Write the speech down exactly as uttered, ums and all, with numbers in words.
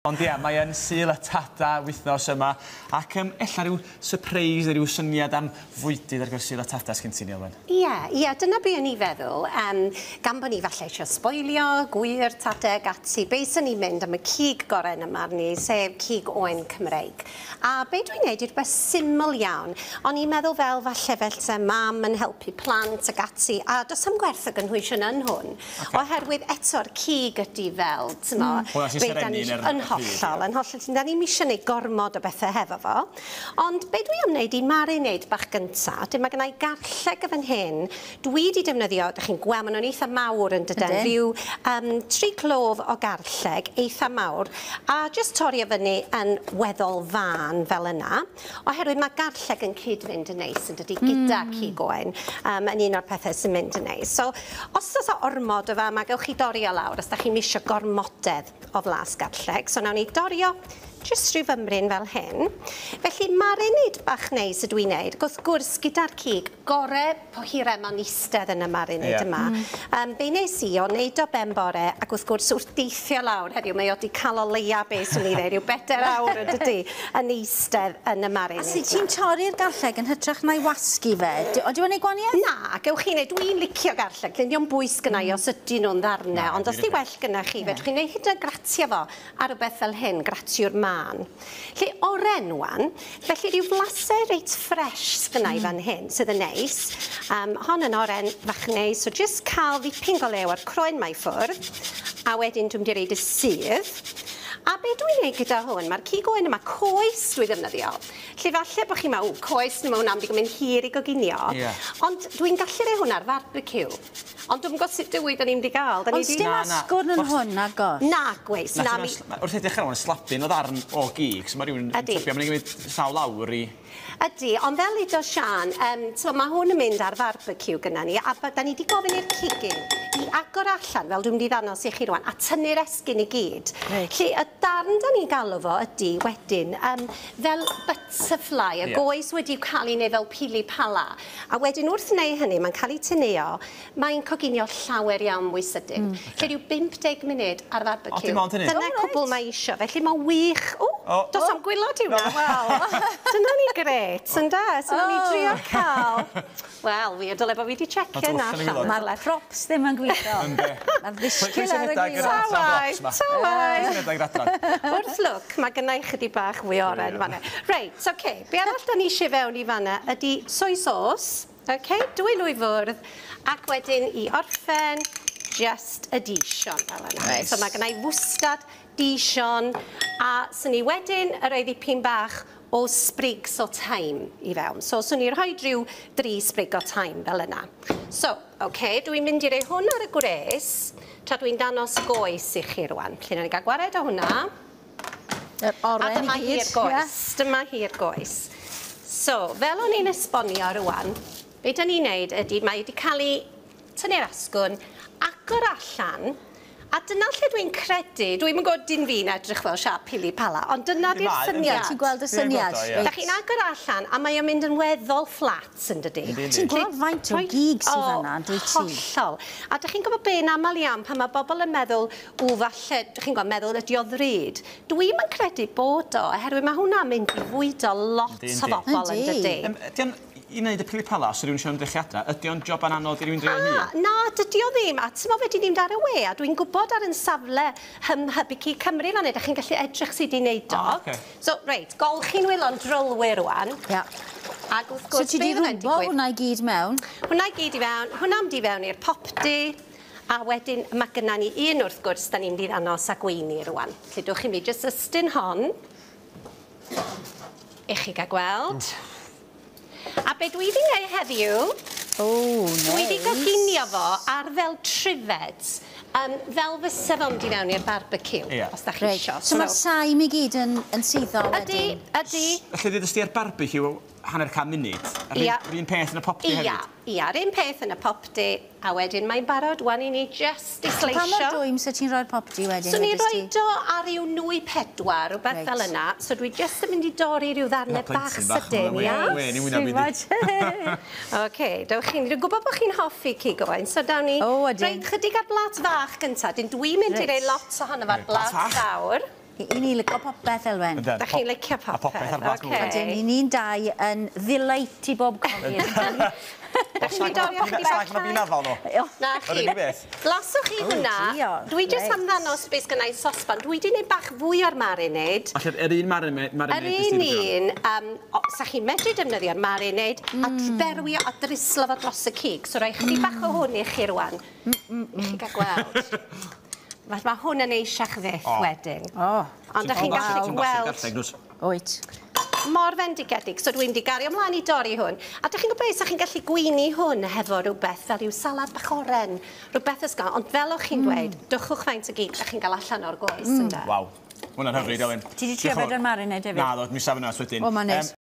Ond ia, mae yn Sul y Tada wythnos yma, ac um, ella rhyw surprise neu rhyw syniad am fwydydd ar gyfer Sul y Tada sgyn ti, Nilwen? Ie, yeah, ie, yeah, dyna be o'n i feddwl. Um, gan bod ni falle eisiau sboilio, gwir, tadeg, ati, be sy'n ni'n mynd am y cig gorau yn y marn i, sef cig oen Cymreig. A be dwi'n neud yw rhywbeth syml iawn. O'n i'n meddwl fel falle fel se mam yn helpu plant ac ati, a does am gwerth o gynhwysion yn hwn. Okay. Oherwydd eto'r cig ydy fel, t'mo, mm. Hwna sy'n serennu yn hollol, yn hollol. Da ni'm eisiau gwneud gormod o bethau hefo fo. Ond be dwi am wneud i marinade bach gynta, dim mae gennau garlleg y fan hyn. Dwi wedi defnyddio, dych chi'n gweld, maen nhw'n eitha mawr yn dydyn, rhyw um, tri clof o garlleg, eitha mawr, a just torri o fyny yn weddol fan fel yna, oherwydd mae garlleg yn cyd-fynd yn neis yn dydy, gyda mm. cig oen, um, yn un o'r pethau sy'n mynd yn neis. So, os oes ormod o fa, mae gewch chi dorri o lawr, os da chi'n misio gormodedd o flas garlleg. So, nawn ni dorio jyst rhyw fymryn fel hyn. Felly marinade bach neis ydw i'n neud. Wrth gwrs, gyda'r cig, gore po hira ma'n eistedd yn y marinade yeah. yma. Mm. Um, be nes i o neud o ben bore, ac wrth gwrs wrth deithio lawr heddiw, mae o di cael o leia be swn i ddeud, rhyw bedair awr yn dydy, yn eistedd yn y marinade. A sut ti'n torri'r garlleg yn hytrach na'i wasgu fe? Ydy o'n ei gwaniaeth? Na, gewch chi neud. Dwi'n licio garlleg. Dwi'n bwys gynna i os ydyn nhw'n ddarnau, ond os di well gynna chi, fedrwch chi neud hyd yn gratio fo ar rhywbeth fel hyn, gratiwr mân. Lle oren wan, felly rhyw flasau reit ffres sgynna i fan hyn, sydd yn neis. Um, hon yn oren fach neis, so just cael ddipyn go lew ar croen mae ffwrdd, a wedyn dwi'n mynd i reid y sudd. A be dwi'n neud gyda hwn, mae'r cig oen yma, coes dwi ddefnyddio. Lle falle bod chi'n meddwl, coes, mae hwnna'n mynd i gymryd hir i goginio. Yeah. Ond dwi'n gallu rhoi hwnna ar barbecue. Ond dwi'n gwybod sut dwi da ni'n mynd i gael. Ond dim asgwrn yn hwn, nagos? Na, gweis. Na, mi... Wrth edrych ar hwn, slapyn o ddarn o gig, so mae rhywun yn tybio, mae'n gymryd sawl awr i... Ydy, ond fel udo Sian, um, so mae hwn yn mynd ar barbecue gyda ni, a da ni wedi gofyn i'r cigyn i agor allan, fel dwi'n mynd i ddangos i chi rwan, a tynnu'r esgyn i gyd. Reit. Lle y darn da ni'n galw fo ydy wedyn, um, fel butterfly, y yeah. goes wedi cael ei wneud fel pili pala. A wedyn wrth wneud hynny, mae'n cael ei tynnu-o, mae'n coginio llawer iawn mwy sydyn. Mm. Lle rhyw bump deg munud ar barbecue. O, dim ond hynny. Dyna oh, cwbl mae isio, felly mae'n wych. O, oh, dos am gwylod i hwnna. Wel, dyna ni gret, ynda? So oh. ni drio cael. Wel, fi dyle bod fi wedi checio yna allan. Mae'r props ddim yn gweithio. Mae'r ddisgyl ar y gwylod. Tawai, tawai. Wrth lwc, mae gynna i chydig bach fwy oren fan'na. Reit, oce. Be arall da ni eisiau fewn i fan'na ydy soy sauce. Oce, dwy lwy fwrdd, ac wedyn i orffen, just y Dijon fel yna. Nice. So mae gynna i fwstad, Dijon, a swn i wedyn y rhoi ddipyn bach o sprigs o thyme i fewn. So swn i'n rhoi rhyw dri sprig o thyme fel yna. So, oce, okay, dwi'n mynd i roi hwn ar y gwres, tra dwi'n danos goes i chi rwan. Felly, nawn ni gael gwared o hwnna. Yr oren a dyma i gyd. Hi'r goes. Yeah. Dyma hi'r goes. So, fel o'n i'n esbonio rwan, be da ni'n neud ydy, mae wedi cael ei tynnu'r asgwrn, agor allan, a dyna lle dwi'n credu, dwi'n yn gwybod dim fi'n edrych fel siâp pili pala, ond dyna di'r syniad. Ti'n gweld y syniad? Da chi'n agor allan, a mae o'n mynd yn weddol fflat yn dydi. Ti'n gweld faint o gig sydd fan'na, dwyt ti? Hollol. A da chi'n gwybod be yn aml iawn pan mae bobl yn meddwl, ww, falle, da chi'n gwybod, meddwl ydi o ddrud. Dwi'm yn credu bod o, oherwydd mae hwnna'n mynd i fwydo lot o bobl yn dydi. I wneud y pili pala, os rhywun eisiau ymdrechu adra, ydy o'n job anodd i rhywun drio hun? Na, dydy o ddim. A ti'n meddwl fe di mynd ar y we, a dwi'n gwybod ar yn safle Hybu Cig Cymru fan hyn, da chi'n gallu edrych sydd wedi wneud o. Oh, okay. So, reit, golchi'n wylo'n drylwyr rwan. Ia. Ac wrth gwrs, so ti di rwbo hwnna i gyd mewn? Hwnna i gyd i fewn, hwnna mynd i fewn i'r popty, a wedyn mae gynna ni un wrth gwrs, da ni'n mynd i ddangos a gweini rwan. Felly, dwch i mi jyst ystyn hon, i chi gael gweld. Mm. A be dwi wedi gwneud heddiw, oh, nice. Dwi wedi goginio fo ar fel trifed, um, fel fysa fo'n mynd i fewn i'r barbecue, yeah. os da chi right. isio. So mae'r saim i gyd yn, yn suddo wedyn? Ydy, ydy. Felly ddudest ti ar barbecue hanner can munud? A'r ia. un peth yn y popty ia, hefyd? Ia, yr un peth yn y popty, a wedyn mae'n barod wan i ni just i sleisio. Pa mor dwym so ti'n rhoi'r popty wedyn? So ni'n rhoi o ar ryw nwy pedwar, rhywbeth right. fel yna. So dwi just yn mynd i dorri rhyw ddarnau bach sydyn, ia? Wen, i wyneb i. Oce, dewch chi'n... Dwi'n gwybod bod chi'n hoffi cig oen, so dawn ni... O, ydyn. Reit, chydig ar blat fach gyntaf. Dyn dwi'n mynd i roi lot ohono fo ar blat fawr. I ni licio popeth, Elwen. Yndan, Da chi'n licio popeth. A popeth ar blat ocê. mawr. Ydyn, ni ni'n dau yn ddelight i bob cogydd. Da chi'n mynd i dorri ychydig bach Os nag ma' afal nhw. Na chi. Yr unig beth. Laswch chi hwnna. Diolch, Dwi jyst reit. am ddangos beth sgynna i sosban. Dwi wedi gwneud bach fwy o'r marinade. Felly, yr un marinade... Yr un un, um, o, sa chi'n medru defnyddio'r marinade a berwi a drislo fo dros y cig. So rhoi chydig bach o hwn i chi rwan. I chi gael gweld. Mae ma hwn yn eisiach fyth O. wedyn. O, Ond da chi'n gallu gweld wyt. Mor fendigedig. So dwi'n di gario ymlaen i dorri hwn. A dych chi'n gwybod beth, sa chi'n gallu gweini hwn hefo rhywbeth fel rhyw salad bach oren, rhywbeth ysgafn. Ond fel o'ch chi'n dweud, dychwch faint o gig da chi'n gael allan o'r goes, mm. Ynde? Waw. Hwnna'n hyfryd, Elin. Ti 'di trio fe 'da'r marinade hefyd? Na, ddo, mi saf yna wedyn. O, ma'n neis.